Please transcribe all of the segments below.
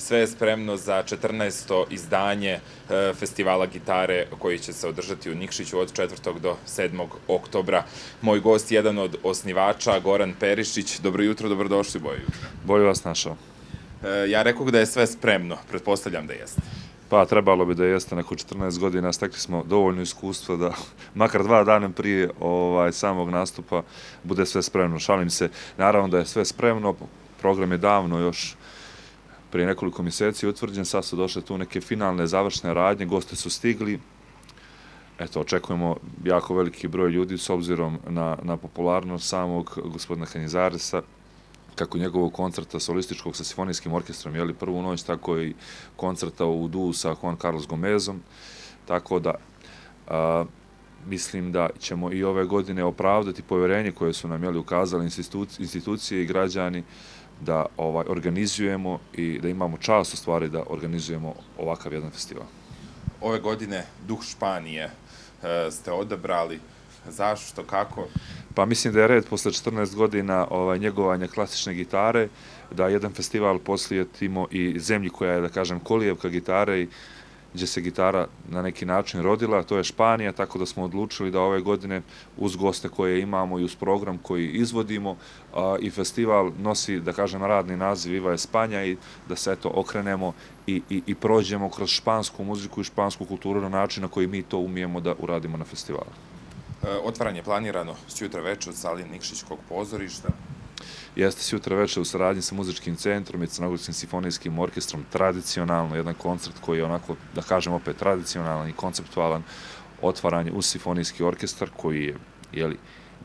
sve je spremno za 14. izdanje festivala gitare koji će se održati u Nikšiću od 4. do 7. oktobra. Moj gost, jedan od osnivača, Goran Perišić. Dobro jutro, dobrodošli, bolje jutro. Bolje vas našao. Ja rekao da je sve spremno, pretpostavljam da jeste. Pa trebalo bi da jeste, neko 14 godina, stekli smo dovoljno iskustvo da makar 2 dana prije samog nastupa bude sve spremno. Šalim se, naravno da je sve spremno, program je davno još prije nekoliko mjeseci utvrđen, sad su došle tu neke finalne završne radnje, gosti su stigli. Eto, očekujemo jako veliki broj ljudi s obzirom na popularnost samog gospodina Canizaresa, kako njegovog koncerta solističkog sa simfonijskim orkestrom, prvu noć, tako i koncerta u duu sa Juan Carlos Gomezom, tako da mislim da ćemo i ove godine opravdati povjerenje koje su nam ukazali institucije i građani da organizujemo i da imamo čast u stvari da organizujemo ovakav jedan festival. Ove godine Duh Španije ste odabrali. Zašto, kako? Pa mislim da je red posle 14 godina njegovanja klasične gitare, da jedan festival posvetimo i zemlji koja je, da kažem, kolijevka gitare i gdje se gitara na neki način rodila, to je Španija, tako da smo odlučili da ove godine uz goste koje imamo i uz program koji izvodimo i festival nosi, da kažem, radni naziv Viva Espanja i da se eto okrenemo i prođemo kroz špansku muziku i špansku kulturu na način na koji mi to umijemo da uradimo na festivalu. Otvaranje planirano sutra večer u sali Nikšićkog pozorišta. Jeste sutra večer u saradnji sa muzičkim centrom i Crnogorskim simfonijskim orkestrom, tradicionalno jedan koncert koji je onako, da kažem opet, tradicionalan i konceptualan, otvaranje uz simfonijski orkestar koji je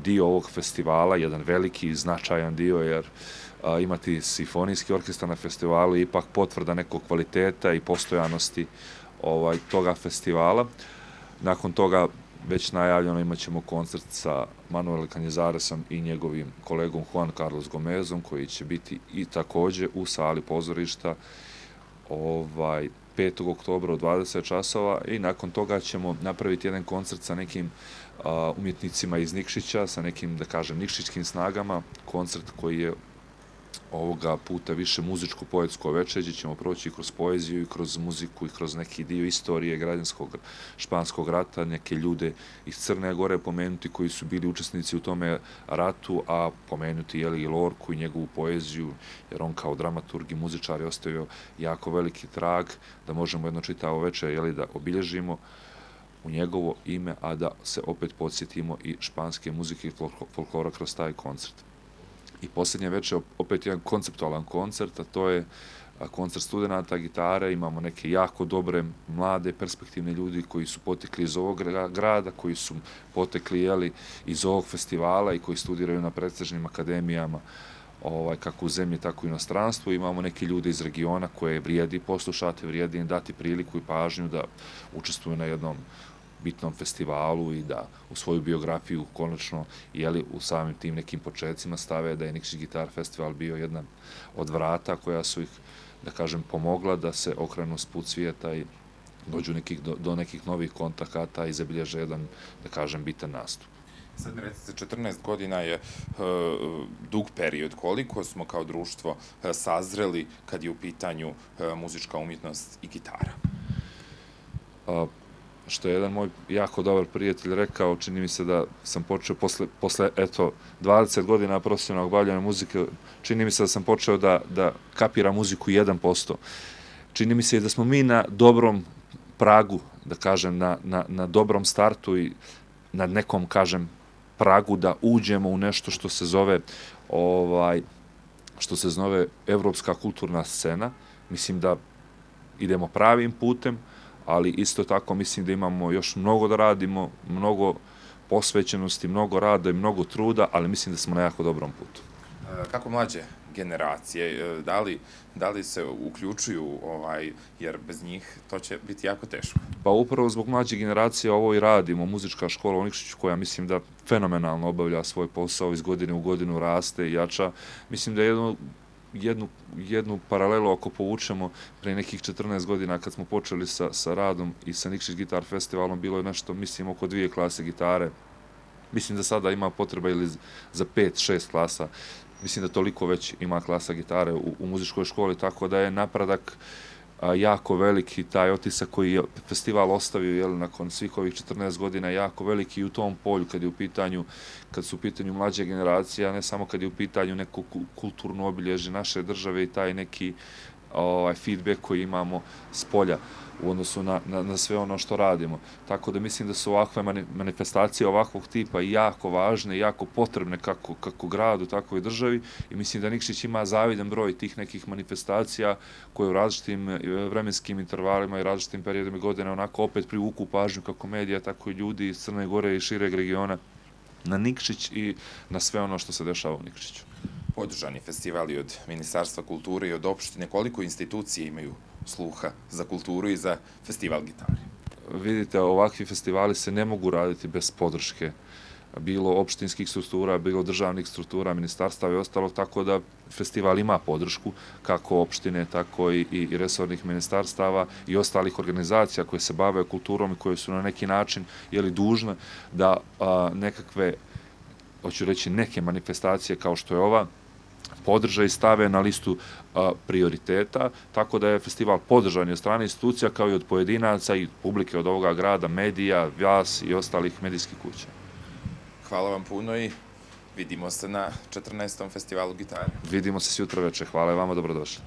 dio ovog festivala, jedan veliki i značajan dio, jer imati simfonijski orkestar na festivalu je ipak potvrda nekog kvaliteta i postojanosti toga festivala. Nakon toga već najavljeno imat ćemo koncert sa Manuel Canizaresom i njegovim kolegom Juan Carlos Gomezom, koji će biti i također u sali pozorišta 5. oktobra u 20 časova i nakon toga ćemo napraviti jedan koncert sa nekim umjetnicima iz Nikšića, sa nekim, da kažem, nikšićkim snagama, koncert koji je ovoga puta više muzičko-poetsko večer, gdje ćemo proći kroz poeziju i kroz muziku i kroz neki dio istorije građanskog španskog rata, neke ljude iz Crne Gore pomenuti koji su bili učesnici u tome ratu, a pomenuti i Lorku i njegovu poeziju, jer on kao dramaturg i muzičar je ostavio jako veliki trag, da možemo jedno čitavo večer da obilježimo u njegovo ime, a da se opet podsjetimo i španske muzike i folklora kroz taj koncert. I posljednje večer opet jedan konceptualan koncert, a to je koncert studenata gitare. Imamo neke jako dobre, mlade, perspektivne ljudi koji su potekli iz ovog grada, koji su potekli iz ovog festivala i koji studiraju na prestižnim akademijama kako u zemlji, tako i u inostranstvu. Imamo neke ljude iz regiona koje vrijedi poslušati, vrijedi im dati priliku i pažnju da učestvuju na jednom bitnom festivalu i da u svoju biografiju konačno u samim tim nekim početcima stave da je Nikšić Gitar Festival bio jedna od vrata koja su ih, da kažem, pomogla da se okrenu s put svijeta i dođu do nekih novih kontakata i zabilježe jedan, da kažem, bitan nastup. Sad mi recite, 14 godina je dug period. Koliko smo kao društvo sazreli kad je u pitanju muzička umjetnost i gitara? Što je jedan moj jako dobar prijatelj rekao, čini mi se da sam počeo posle 20 godina profesionalnog bavljanja muzike, čini mi se da sam počeo da kapiram muziku 1%. Čini mi se i da smo mi na dobrom pragu, da kažem, na dobrom startu i na nekom, kažem, pragu da uđemo u nešto što se zove evropska kulturna scena. Mislim da idemo pravim putem, ali isto tako mislim da imamo još mnogo da radimo, mnogo posvećenosti, mnogo rada i mnogo truda, ali mislim da smo na jako dobrom putu. Kako mlađe generacije, da li se uključuju, jer bez njih to će biti jako teško? Pa upravo zbog mlađe generacije ovo i radimo. Muzička škola u Nikšiću, koja mislim da fenomenalno obavlja svoj posao, iz godine u godinu raste i jača. Mislim da jednu paralelu ako povučemo, pre nekih 14 godina kad smo počeli sa radom i sa Nikšić Gitar Festivalom, bilo je nešto, mislim, oko 2 klase gitare. Mislim da sada ima potreba ili za 5-6 klasa. mislim da toliko već ima klasa gitare u muzičkoj školi, tako da je napredak jako veliki, taj otisak koji je festival ostavio nakon svih ovih 14 godina jako veliki i u tom polju kad su u pitanju mlađe generacije, a ne samo kad je u pitanju neko kulturno obilježje naše države i taj neki feedback koji imamo s polja u odnosu na sve ono što radimo. Tako da mislim da su ovakve manifestacije ovakvog tipa jako važne i jako potrebne kako gradu, tako i državi i mislim da Nikšić ima zavidan broj tih nekih manifestacija koje u različitim vremenskim intervalima i različitim periodima godine onako opet privuku pažnju kako medija, tako i ljudi iz Crne Gore i šireg regiona na Nikšić i na sve ono što se dešava u Nikšiću. Podržani festivali od Ministarstva kulture i od opštine, koliko institucije imaju sluha za kulturu i za festival gitare? Vidite, ovakvi festivali se ne mogu raditi bez podrške, bilo opštinskih struktura, bilo državnih struktura, ministarstava i ostalog, tako da festival ima podršku kako opštine, tako i resornih ministarstava i ostalih organizacija koje se bave kulturom i koje su na neki način dužne da nekakve, hoću reći, neke manifestacije kao što je ova, podrže i stave na listu prioriteta, tako da je festival podržan od strane institucija kao i od pojedinaca i publike od ovoga grada, medija, vas i ostalih medijskih kuća. Hvala vam puno i vidimo se na 14. festivalu gitare. Vidimo se sutra večer. Hvala i vama, dobrodošli.